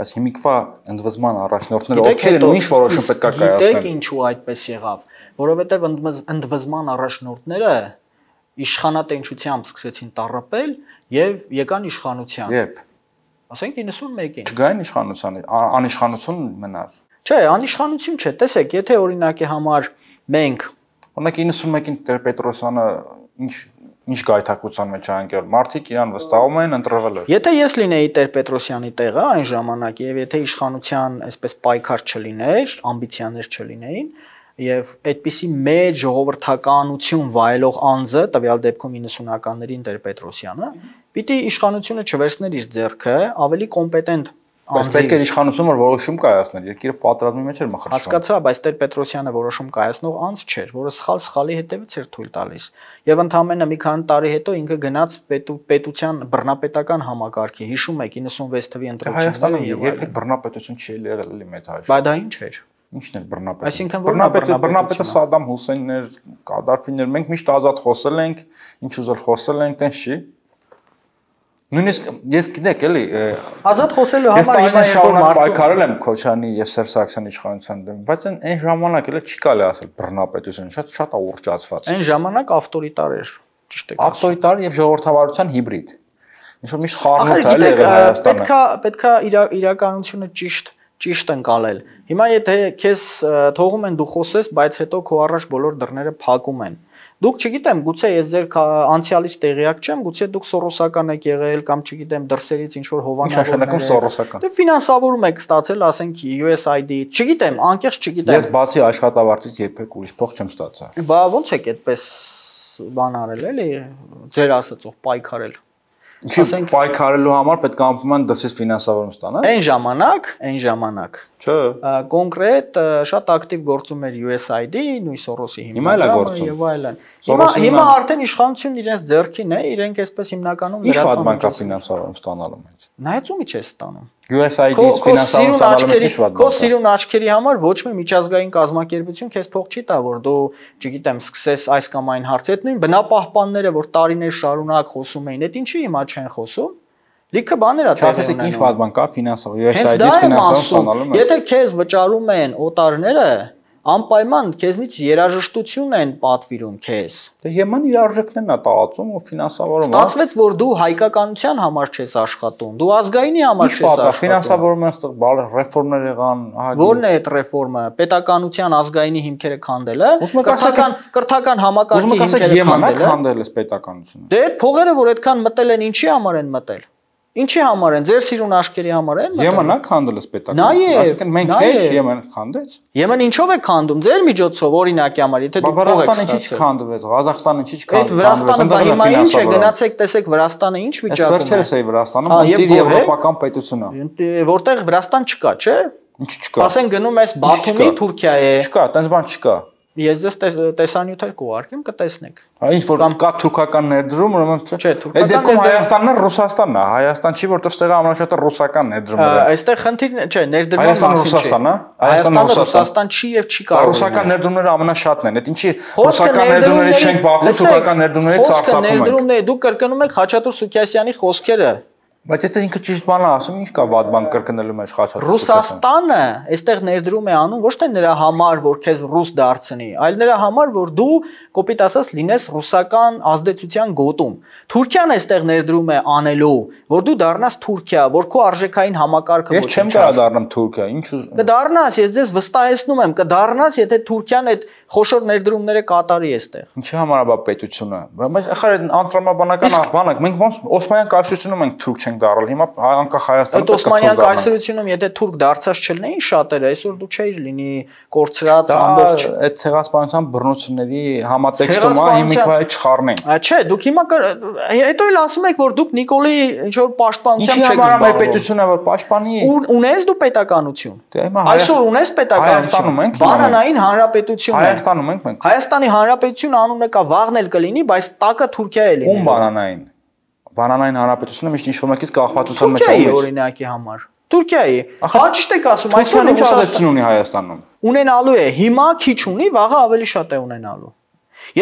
A: բայց հիմիկվա ընդվզման առաջնորդները ովքեր են ինչ որոշում պետք է կայացնեն։
B: Գիտեք ինչու այդպես եղավ, որովհետև ընդվզման առաջնորդները իշխանատենչությամբ սկսեցին տառապել եւ եկան իշխանության։
A: Երբ
B: Ասենք 91-ին։
A: Չգային իշխանության, անիշխանություն մնար։
B: Չէ, անիշխանություն չէ, տեսեք, եթե օրինակի համար մենք
A: օրինակ 91-ին Տեր-Պետրոսյանը ինչ գայթակղության մեջ ա ընկել, մարդիկ իրան վստահում էին ընտրվել էր։
B: Եթե ես լինեի Տեր-Պետրոսյանի տեղը այն ժամանակ եւ եթե իշխանության այսպես պայքար չլիներ, ամբիցիաներ չլինեին եւ այդպիսի մեծ ժողովրդականություն վայելող անձը, տվյալ դեպքում 90-ականներին Տեր-Պետրոսյանը, պիտի իշխանությունը չվերցներ իր ձեռքը, ավելի կոմպետենտ
A: անձի։ Պետք է իշխանություն որ որոշում կայացներ, երկիրը պատերազմի մեջ էր մխրճվում։
B: Հասկացա, բայց Տեր-Պետրոսյանը որոշում կայացնող անձ չէր, որը սխալի հետևից էր թույլ տալիս։ Եվ ընդամենը մի քանի տարի հետո ինքը գնաց պետության բռնապետական համակարգի, հիշում եք 96 թվականի ընտրությունները
A: եւ երբեք բռնապետություն չի եղել էլի մեծ Հայաստանում։
B: Բայց դա ինչ էր։
A: Ինչն էր բռնապետը։
B: Այսինքն
A: բռնապետը Սադամ Հուսեյնն էր, Կադաֆին էր, մենք միշտ ազատ խոսել ենք, ինչ ուզել խոսել ենք, տենց չի։ Նույնիսկ ես գիտեք էլի
B: ազատ խոսելու համար
A: հիմա շարունակ պայքարել եմ Քոչարյանի եւ Սերժ Սարգսյանի իշխանության դեմ, բայց այն ժամանակ էլ չի կարելի ասել բռնապետություն, շատ ուռճացված։
B: Այն ժամանակ ավտորիտար էր, ճիշտ է։
A: Ավտորիտար եւ ժողովրդավարության հիբրիդ։ Ինչ որ միշտ խառնուրդ է եղել Հայաստանը։
B: Պետքա իրականությունը ճիշտ ընկալել։ Հիմա եթե քեզ թողում են դու խոսես, բայց հետո քո առաջ բոլոր դռները փակում են։ Դուք չգիտեմ, գուցե ես ձեր անցյալից տեղյակ չեմ, գուցե դուք սորոսական եք եղել կամ չգիտեմ դրսերից ինչ որ
A: հովանավորներ
B: սորոսական։ Դե ֆինանսավորում եք ստացել, ասենք USAID, չգիտեմ, անկեղծ չգիտեմ։
A: Ես բացի աշխատավարձից երբեք ուրիշ փող չեմ ստացել։
B: Բա ո՞նց եք այդպես բան արել էլի, ձեր ասածով պայքարել։
A: Ասենք պայքարելու համար պետք է անպայման դասից ֆինանսավորում ստանալ։
B: Այն ժամանակ։
A: Չէ։
B: Կոնկրետ շատ ակտիվ գործում էր USAID, նույն Սորոսի
A: հիմնադրամը
B: եւ այլն։ Հիմա արդեն իշխանությունն իրենց ձեռքին է, իրենք այսպես հիմնականում
A: լրացման բանկա ֆինանսավորում ստանալու մեջ։
B: Նայած ումի չէ ստանում։
A: USAID-ից ֆինանսավորում ստանալու մեջ ինչ վատ։
B: Քո սիրուն աչքերի համար ոչ մի միջազգային կազմակերպություն քեզ փող չի տա, որ դու, չգիտեմ, սկսես այս կամ այն հարցեր, նույն բնապահպանները, որ տարիներ շարունակ խոսում էին, այդ ինչի հիմա չեն խոսում։ Լիքը բաներ ա տեղի ունենում։
A: Ինչ վատ բան կա ֆինանսավորում, USAID-ից ֆինանսավորում ստանալու մեջ։
B: Եթե քեզ վճարում են օտարները, անպայման քեզնից երաժշտություն են պատվիրում քեզ։
A: Դե ԵՄ-ն իր արժեքներն է տարածում ու ֆինանսավորում։
B: Ստացվեց, որ դու հայկականության համար չես աշխատում, դու ազգայինի համար չես աշխատում։
A: Ֆինանսավորումը ստեղ ռեֆորմներ եղան,
B: Որն է այդ ռեֆորմը։ Պետականության ազգայինի հիմքերը քանդելը, կրթական համակարգի հիմքերը
A: քանդելը։ Քանդել է պետականությունը։
B: Դե այդ փողերը, որ այդքան մտել են, ինչի համար են մտել։ Ինչի համար են, ձեր սիրուն աշկերի համար են մտել։
A: ԵՄ-ն քանդել է պետականությունը։ Այսինքն մենք հեչ ԵՄ-ն քանդեց։
B: ԵՄ-ն ինչով է քանդում, ձեր միջոցով օրինակի համար, եթե դուք փող եք
A: ստացել։ Վրաստանը ինչի չքանդվեց, Ղազախստանը ինչի չքանդվեց։
B: Այդ Վրաստանը բա հիմա ինչ է, գնացեք տեսեք Վրաստանը ինչ վիճակում է։
A: Վերջերս է Վրաստանը, մտիր եվրոպական պետություն է։
B: Որտեղ Վրաստան չկա, չէ։
A: Ինչ չկա։
B: Ասեն գնում ես Բաթումի Թուրքիա է։
A: Չկա, տենց բան չկա։
B: Ես ձեզ տեսանյութեր կուղարկեմ, կտեսնեք։
A: Ինչ որ կա թուրքական ներդրում, ուրեմն
B: չէ,
A: այդ դեպքում Հայաստանն է, Ռուսաստանն է։ Հայաստան չի, որտեղ ստեղ ամենաշատը ռուսական ներդրումներ է։
B: Այստեղ խնդիրն չէ, ներդրման
A: մասին չէ։
B: Հայաստանը Ռուսաստան չի եւ չի կարող։
A: Ռուսական ներդրումները ամենաշատն են։ Այդ ինչի ռուսական ներդրումներից չենք բախվում, թուրքական ներդրումներից ծախսակում ենք։
B: Ներդրումները դուք կրկնում եք Խաչատուր Սուքիասյանի խոսքերը։
A: Բայց եթե ինքը ճիշտ բան է ասում, ինչ կա վատ բան կրկնելու մեջ խաչատուրը։
B: Ռուսաստանը այստեղ ներդրում է անում ոչ թե նրա համար, որ քեզ ռուս դարձնի, այլ նրա համար, որ դու կոպիտ ասած լինես ռուսական ազդեցության գոտում։ Թուրքիան այստեղ ներդրում է անելու, որ դու դառնաս Թուրքիա, որ քո արժեքային համակարգը
A: Ես չեմ կարող դառնամ Թուրքիա, ինչ
B: կդառնաս, ես ձեզ վստահեցնում եմ, կդառնաս, եթե Թուրքիան այդ խոշոր ներդրումները կատարի այստեղ։
A: Ինչի համար է բա պետությունը։ Բայց ախր այդ անդրամաբանական բանակ, մենք ոնց Օսմանյան կայսրությունում ենք թուրք չենք դառել, հիմա անկախ Հայաստանը
B: պետք է Օսմանյան կայսրությունում եթե թուրք դարձած չլինեին շատերը, այսօր դու չէիր լինի կորցրած ամբողջ
A: այդ ցեղասպանության բռնությունների համատեքստում է հիմիկվայի չխառնեն։
B: Չէ, դուք հիմա հետո էլ ասում եք, որ դուք Նիկոլի ինչ որ պաշտպանությամբ չեք
A: զբաղվում։ Ինչի համար պետությունը որ պաշտպանի։
B: Ունես դու պետականություն։ Այսօր ունես պետականություն։ Բանանային հանրապետություն է։
A: Հայաստանում ենք մենք։
B: Հայաստանի Հանրապետություն անունը կա, վաղն էլ կլինի, բայց տակը Թուրքիա է լինի։
A: Ում բանանային։ Բանանային հանրապետությունը միշտ ինչ-որ մեկից կախվածության մեջ
B: Թուրքիայի օրինակի համար։ Թուրքիայի։ Հաճիշտ եք ասում, այսօր
A: ինչ ազդեցություն ունի Հայաստանում։
B: Ունենալու է, հիմա քիչ ունի, վաղը ավելի շատ է ունենալու։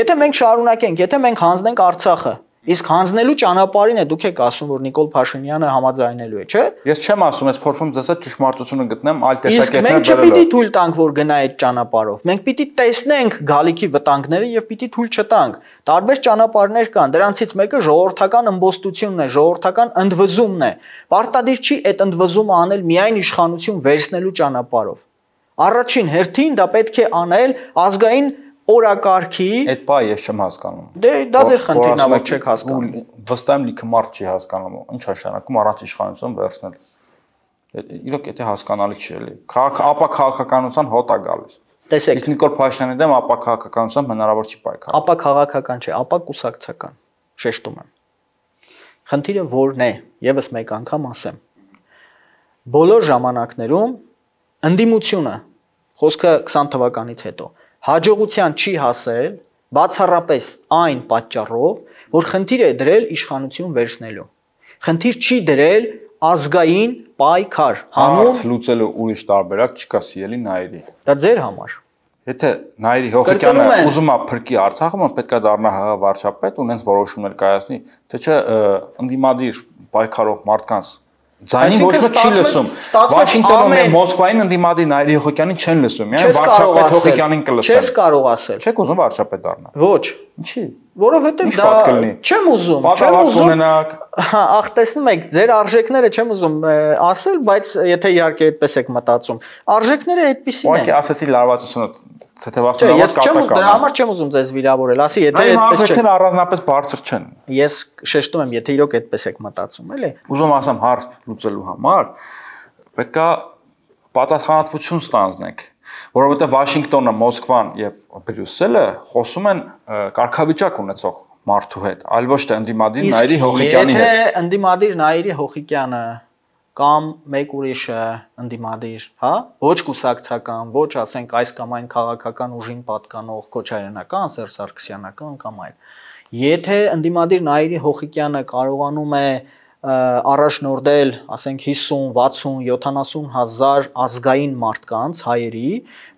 B: Եթե մենք շարունակենք, եթե մենք հանձնենք Արցախը, իսկ հանձնելու ճանապարհին է դուք եք ասում, որ Նիկոլ Փաշինյանը համաձայնելու է, չէ՞։
A: Ես չեմ ասում, ես փորձում դասա ճշմարտությունը գտնեմ այլ տեսակետներ
B: բերելով։ Իսկ մենք չպիտի թույլ տանք, որ գնա այդ ճանապարհով։ Մենք պիտի տեսնենք գալիքի վտանգները եւ պիտի թույլ չտանք։ Տարբեր ճանապարհներ կան, դրանցից մեկը ժողովրդական ըմբոստությունն է, ժողովրդական ընդվզումն է։ Պարտադիր չի այդ ընդվզումը անել միայն իշխանություն վերցնելու ճանապարհով։ Առաջին հերթին դա պետք է անել ազգային օրակարգի
A: այդ բա ես չեմ հասկանում։
B: Դե դա ձեր խնդիրն է, որ չեք հասկանում։
A: Վստահ եմ լիքը մարդ չի հասկանում։ Ինչ նշանակում առանց իշխանություն վերցնել։ Իրոք եթե հասկանալի չի էլի։ Ապա քաղաքականության հոտ է գալիս։
B: Տեսեք։
A: Իսկ Նիկոլ Փաշինյանի դեմ ապա քաղաքականությամբ հնարավոր չի պայքարել։
B: Ապա քաղաքական չէ, ապա կուսակցական։ Շեշտում եմ։ Խնդիրը որն է, եւս մեկ անգամ ասեմ։ Բոլոր ժամանակներում ընդդիմությունը խոսքը 20 թվականից հետո հաջողության չի հասել բացառապես այն պատճառով, որ խնդիր է դրել իշխանություն վերցնելու։ Խնդիր չի դրել ազգային պայքար,
A: հանուն լուծելու ուրիշ տարբերակ չկա սիրելի Նայիրի։
B: Դա ձեր համար։
A: Եթե Նայիրի Հոխիկյանը ուզում է փրկի Արցախը, պետք է դառնա ՀՀ վարչապետ, ունենց որոշումներ կայացնի, թե չէ ընդդիմադիր պայքարող մարդկանց Ձայնին ոչ ոք չի լսում։ Վաշինգտոնում եւ Մոսկվային ընդդիմադիր Նայիրի Հոխիկյանին չեն լսում, միայն վարչապետ Հոխիկյանին կլսեն։
B: Չես կարող ասել։
A: Չեք ուզում վարչապետ դառնալ։
B: Ոչ։
A: Ինչի։
B: Որովհետեւ դա չեմ ուզում, չեմ ուզում։ Ախ, տեսնում եք, ձեր արժեքները չեմ ուզում ասել, բայց եթե իհարկե այդպես եք մտածում, արժեքները այդպեսին են։
A: Ուղղակի ասացի լարվածությունը
B: Ես չեմ ուզում, դրա համար չեմ ուզում ձեզ վիրավորել, ասի, եթե այդպես չէ։
A: Այո, առանձնապես բարձր չեն։
B: Ես շեշտում եմ, եթե իրոք այդպես եք մտածում, էլի։
A: Ուզում ասեմ հարց լուծելու համար պետքա պատասխանատվություն ստանձնեք, որովհետև Վաշինգտոնը, Մոսկվան եւ Բրյուսելը խոսում են կարգավիճակ ունեցող մարդու հետ, այլ ոչ թե ընդդիմադիր Նայիրի Հոխիկյանի հետ։
B: Եթե ընդդիմադիր Նայիրի Հոխիկյանը կամ մեկ ուրիշը ընդդիմադիր, հա, ոչ կուսակցական, ոչ ասենք այս կամ այն քաղաքական ուժին պատկանող Քոչարյանական, Սերժ Սարգսյանական կամ այլ։ Եթե ընդդիմադիր Նայիրի Հոխիկյանը կարողանում է առաջնորդել, ասենք 50, 60, 70 հազար ազգային մարդկանց, հայերի,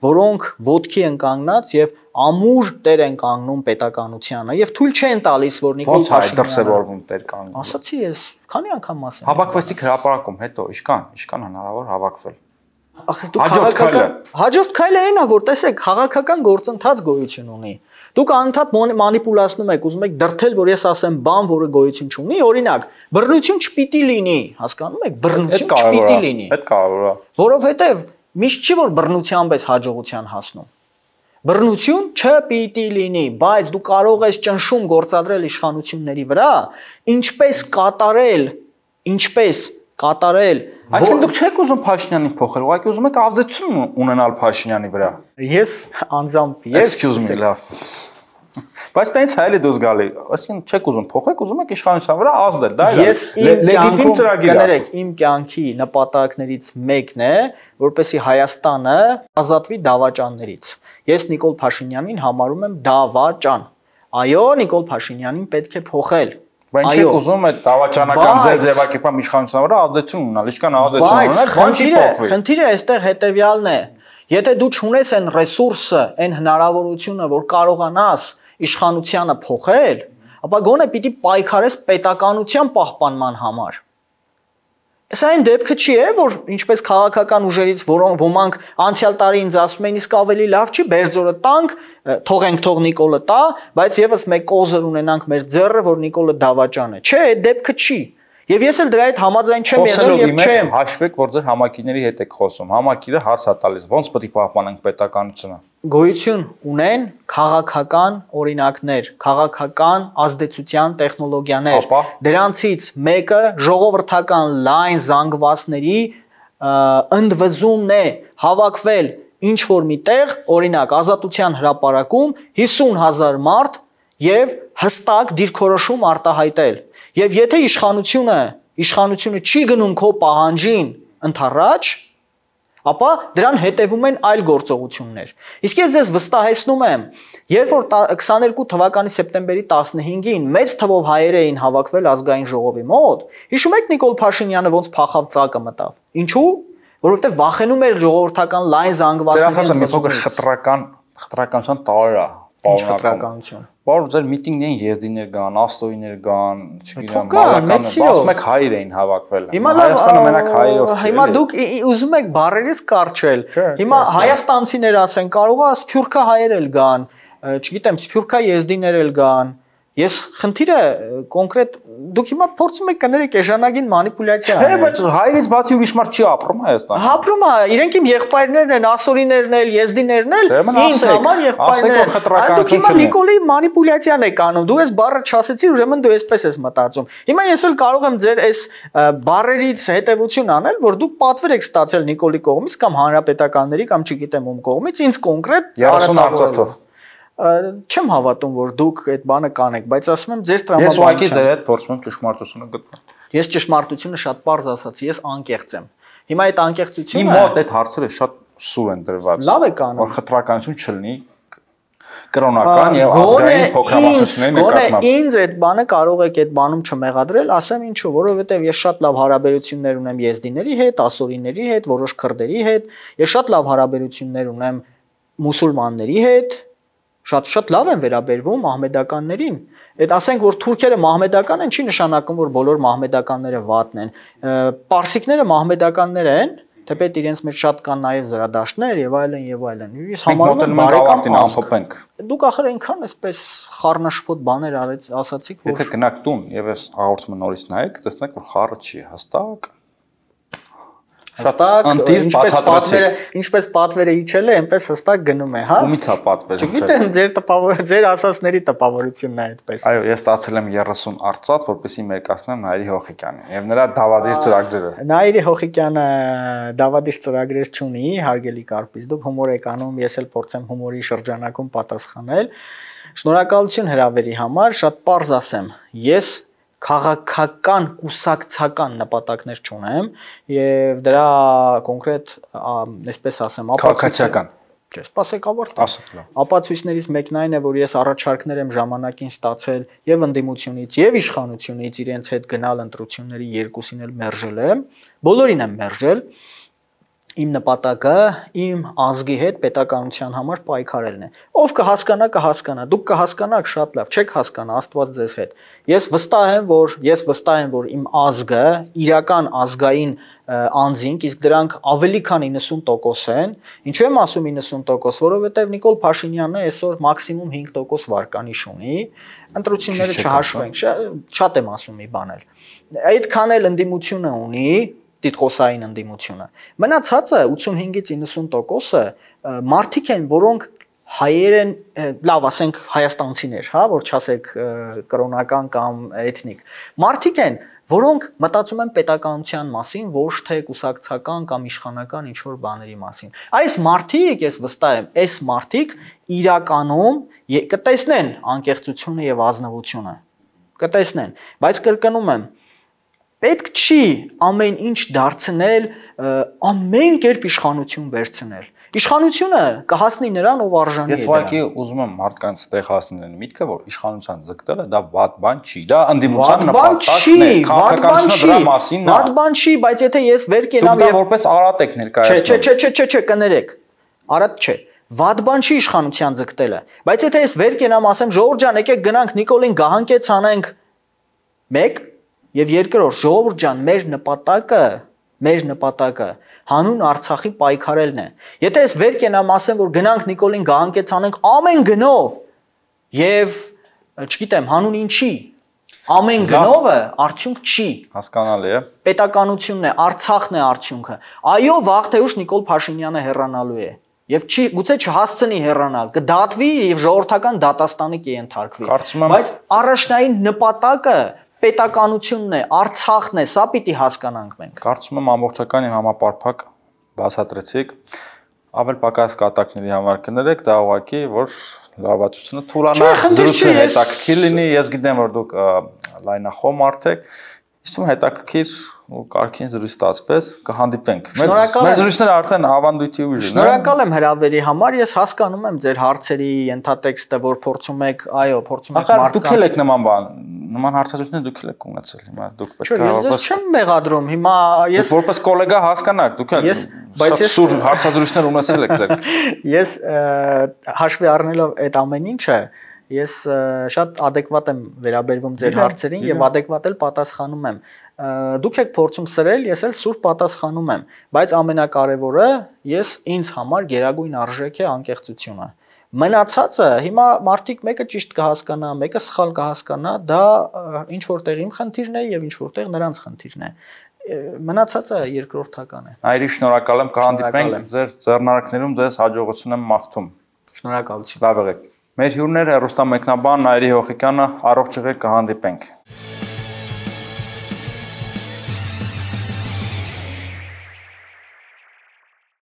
B: որոնք ոտքի են կանգնած եւ ամուր տեր են կանգնում պետականությանը եւ թույլ չեն տալիս, որ Նիկոլ Փաշինյանը
A: դրսևորվում տեր կանգնում։
B: Ասացի ես, քանի անգամ ասեմ։
A: Հավաքվեցիք հրապարակում, հետո իշքան հնարավոր հավաքվել։
B: Ախ, դու քաղաքական հաջորդ քայլը այն է, որ տեսեք, քաղաքական գործընթաց գոյություն ունի։ Դուք անընդհատ մանիպուլացնում եք, ուզում եք դրթել, որ ես ասեմ բան, որը գոյություն չունի, օրինակ, բռնություն չպիտի լինի, հասկանում եք, բռնություն չպիտի լինի։
A: Այդ կարևոր է։
B: Որովհետև միշտ չի որ բռնությամբ ես հաջողության հասնում։ Բռնություն չպիտի լինի, բայց դու կարող ես ճնշում գործադրել իշխանությունների վրա, ինչպես կատարել
A: Այսինքն դուք չեք ուզում Փաշինյանին փոխել, ուղղակի ուզում եք ազդեցություն ունենալ Փաշինյանի վրա։
B: Ես անձամբ
A: Excuse me, լավ։ Բայց տենց հայելի դուս գալի, այսինքն չեք ուզում փոխեք, ուզում եք իշխանության վրա ազդել, դա է լեգիտիմ ծրագիր է։
B: Կներեք, իմ կյանքի նպատակներից մեկն է, որպեսզի Հայաստանը ազատվի դավաճաններից։ Ես Նիկոլ Փաշինյանին համարում եմ դավաճան։ Այո, Նիկոլ Փաշինյանին պետք է փոխել։
A: Բայց չեք ուզում այդ դավաճանական ձևակերպման իշխանության վրա ազդեցություն ունենալ, ինչքան ազդեցություն ունենալ, բան չի փոխվի։
B: Խնդիրը այստեղ հետեւյալն է։ Եթե դու չունես այն ռեսուրսը, այն հնարավորությունը, որ կարողանաս իշխանությանը փոխել, ապա գոնե պիտի պայքարես պետականության պահպանման համար։ Սա այն դեպքը չի է, որ ինչպես քաղաքական ուժերից ոմանք անցյալ տարի ինձ ասում էին իսկ ավելի լավ չի Բերձորը տանք, թողենք թող Նիկոլը տա, բայց եւս մեկ կոզր ունենանք մեր ձեռը, որ Նիկոլը դավաճան է։ Չէ, այդ դեպքը չի։ Եվ ես էլ դրա հետ համաձայն չեմ եղել եւ չեմ։
A: Հաշվեք, որ ձեր համակիրների հետ եք խոսում։ Համակիրը հարց է տալիս, ոնց պետք է պահպանենք պետականությունը։
B: Գոյություն ունեն քաղաքական օրինակներ, քաղաքական ազդեցության տեխնոլոգիաներ։ Դրանցից մեկը ժողովրդական լայն զանգվածների ընդվզումն է, հավաքվել ինչ որ միտեղ, օրինակ Ազատության հրապարակում 50,000 մարդ եւ հստակ դիրքորոշում արտահայտել։ Եվ եթե իշխանությունը չի գնում քո պահանջին ընդառաջ, ապա դրան հետևում են այլ գործողություններ։ Իսկ ես ձեզ վստահեցնում եմ, երբ որ 22 թվականի սեպտեմբերի 15-ին մեծ թվով հայեր էին հավաքվել ազգային ժողովի մոտ, հիշում եք Նիկոլ Փաշինյանը ոնց փախավ ծակը մտավ։ Ինչու՞։ Որովհետև վախենում էր ժողովրդական լայն զանգվածների
A: մի փոքր խտրականության տարր է։
B: Խտրականություն։
A: Որ ձեր միտինգներին եզդիներ կան, աստոյիներ կան, չգիտեմ, մալական, ասում եք հայեր էին հավաքվել։ Հայաստանը մենակ հայերով չէ։
B: Հիմա դուք ուզում եք բառերից կարճել։ Հիմա հայաստանցիներ ասեն, կարող է սփյուռքա հայեր էլ գան, չգիտեմ, սփյուռքա եզդիներ էլ գան։ Ես խնդիրը կոնկրետ դուք հիմա փորձում եք կներեք էժանագին մանիպուլյացիա։
A: Չէ, բայց հայերից բացի ուրիշ մարդ չի ապրում Հայաստանում։
B: Ապրում է, իրենք իմ եղբայրներն են, ասորիներն են, եզդիներն են, ինձ համար եղբայրներ։ Դուք հիմա Նիկոլի մանիպուլյացիան եք անում։ Դու այս բառը չասեցիր, ուրեմն դու այսպես ես մտածում։ Հիմա ես էլ կարող եմ ձեր այս բառերից հետևություն անել, որ դուք պատվեր եք ստացել Նիկոլի կողմից կամ հանրապետականների կամ չգիտեմ ում կողմից, ինձ կոնկրետ
A: 30 արծաթով։
B: Չեմ հավատում, որ դուք այդ բանը կանեք, բայց ասում եմ ձեր
A: տրամաբանությամբ։ Ես ուղղակի ձեր հետ փորձում եմ ճշմարտությունը գտնել։
B: Ես ճշմարտությունը շատ պարզ ասացի, ես անկեղծ եմ։ Հիմա այդ անկեղծությունը
A: Իմ մոտ այդ հարցերը շատ սուր են դրված։
B: Լավ եք անում։
A: Որ խտրականություն չլինի կրոնական եւ ազգային փոքրամասնությունների նկատմամբ։
B: Ինձ այդ բանը կարող եք այդ բանում չմեղադրել, ասեմ ինչու, որովհետեւ ես շատ լավ հարաբերություններ ունեմ եզդիների հետ, ասորիների հետ, որոշ քրդերի հետ, ես շատ լավ հարաբերություններ ունեմ մուսուլմանների հետ, շատ լավ են վերաբերվում մահմեդականներին։ Այդ ասենք որ թուրքերը մահմեդական են, չի նշանակում որ բոլոր մահմեդականները վատն են։ Պարսիկները մահմեդականներ են, թեպետ իրենց մեջ շատ կան նաև զրադաշտներ եւ այլն եւ այլն։ Ես համարում եմ բարեկամ
A: ամփոփենք։
B: Դուք ախր այնքան էսպես խառնաշփոթ բաներ ասացիք, որ
A: Եթե գնաք տուն եւ ես հաղորդումը նորից նայեք, տեսնեք որ խառը չի, հստակ
B: Հստակ, ինչպես պատվերը իջել է, այնպես հստակ գնում է, հա։
A: Ումից է պատվերը։
B: Չգիտեմ, ձեր ասածների տպավորությունն է այդպես։
A: Այո, ես ստացել եմ 30 արծաթ, որպեսզի մերկացնեմ Նայիրի Հոխիկյանին եւ նրա դավադիր ծրագրերը։
B: Նայիրի Հոխիկյանը դավադիր ծրագրեր չունի, հարգելի Կարպից, դուք հումոր եք անում, ես էլ փորձեմ հումորի շրջանակում պատասխանել։ Շնորհակալություն հրավերի համար, շատ պարզ ասեմ, ես քաղաքական կուսակցական նպատակներ չունեմ եւ դրա կոնկրետ այսպես ասեմ
A: քաղաքացիական
B: չէ սպասեք ավարտեմ ապացույցներից մեկն այն է որ ես առաջարկներ եմ ժամանակին ստացել եւ ընդդիմությունից եւ իշխանությունից իրենց հետ գնալ ընտրությունների երկուսին էլ մերժել եմ բոլորին եմ մերժել Իմ նպատակը իմ ազգի հետ պետականության համար պայքարելն է։ Ով կհասկանա, դուք կհասկանաք շատ լավ, չեք հասկանա, Աստված ձեզ հետ։ Ես վստահ եմ, որ իմ ազգը իրական ազգային անձինք, իսկ դրանք ավելի քան 90% են։ Ինչու եմ ասում 90%, որովհետև Նիկոլ Փաշինյանը այսօր մաքսիմում 5% վարկանիշ ունի։ Ընտրությունները չհաշվենք, շատ եմ ասում մի բան էլ։ Այդքան էլ ընդդիմությունը ունի տիտղոսային ընդդիմությունը։ Մնացածը 85-ից 90%-ը մարդիկ են, որոնք հայեր են, լավ ասենք հայաստանցիներ, հա, որ չասեք կրոնական կամ էթնիկ։ Մարդիկ են, որոնք մտածում են պետականության մասին, ոչ թե կուսակցական կամ իշխանական ինչ-որ բաների մասին։ Այս մարդիկ, ես վստահ եմ, այս մարդիկ իրականում կտեսնեն անկեղծությունը եւ ազնվությունը։ Կտեսնեն, բայց կրկնում եմ Պետք չի ամեն ինչ դարձնել, ամեն կերպ իշխանություն վերցնել։ Իշխանությունը կհասնի նրան, ով արժանի է։
A: Ես ուղղակի ուզում եմ մարդկանց տեղ հասնել միտքը, որ իշխանության ձգտելը դա վատ բան չի, դա ընդդիմության նպատակն է, քաղաքականությունը դրա մասին է։
B: Վատ բան չի, բայց եթե ես վեր կենամ
A: եւ որպես արատ եք ներկայացնում։
B: Չէ, կներեք։ Արատ չէ։ Վատ բան չի իշխանության ձգտելը, բայց եթե ես վեր կենամ ասեմ, Ժողովուրդ ջան, եկեք գնանք Նիկոլին գահանկեց անենք 1 Եվ երկրորդ, ժողովուրդ ջան, մեր նպատակը հանուն Արցախի պայքարելն է։ Եթե ես վեր կենամ ասեմ, որ գնանք Նիկոլին գահանկեցանենք ամեն գնով եւ չգիտեմ, հանուն ինչի, ամեն գնովը արդյունք չի։
A: Հասկանալի է։
B: Պետականությունն է, Արցախն է արդյունքը։ Այո, վաղ թե ուշ Նիկոլ Փաշինյանը հեռանալու է։ Եվ գուցե չհասցնի հեռանալ, կդատվի եւ ժողովրդական դատաստանի կենթարկվի։ Բայց առաջնային նպատակը պետականությունն է, Արցախն է, սա պիտի հասկանանք մենք։
A: Կարծում եմ ամբողջական եւ համապարփակ բացատրեցիք։ Ավել պակաս կատակների համար կներեք, դա ուղղակի որ լավացությունը թուլանա, զրույցը հետաքրքիր լինի, ես գիտեմ որ դուք լայնախոհ մարդ եք, իսկ հետաքրքիր ու կարքին զրույց ստացվեց, կհանդիպենք։ Մեր զրույցները արդեն ավանդույթի ուժ են։
B: Շնորհակալ եմ հրավերի համար, ես հասկանում եմ ձեր հարցերի ենթատեքստը, որ փորձում եք, այո, փորձում եք մարդկանց։
A: Դուք եք նման բան, նման հարցադրություններ դուք եք ունեցել, հիմա դուք պետք է
B: Ես չեմ մեղադրում, հիմա ես
A: որպես գոլեգա հասկանաք, դուք եք սուր հարցադրություններ ունեցել եք ձեր։ Ես
B: հաշվի առնելով այդ ամեն ինչը ես շատ adekvat եմ վերաբերվում ձեր հարցերին եւ adekvat էլ պատասխանում եմ։ Դուք եք փորձում սրել, ես էլ սուր պատասխանում եմ, բայց ամենակարևորը ես ինձ համար գերագույն արժեք է անկեղծությունը։ Մնացածը հիմա մարդիկ մեկը ճիշտ կհասկանա, մեկը սխալ կհասկանա, դա ինչ որտեղ իմ խնդիրն է եւ ինչ որտեղ նրանց խնդիրն է։ Մնացածը երկրորդական է։
A: Այրի շնորհակալ եմ, կհանդիպենք ձեր ձեռնարկներում, ձեզ հաջողություն եմ մաղթում։
B: Շնորհակալություն։
A: Լավ եղեք։ Մեր հյուրները հեռուստամեկնաբան Նայիրի Հոխիկյանը, առողջ եղեք, կհանդիպենք։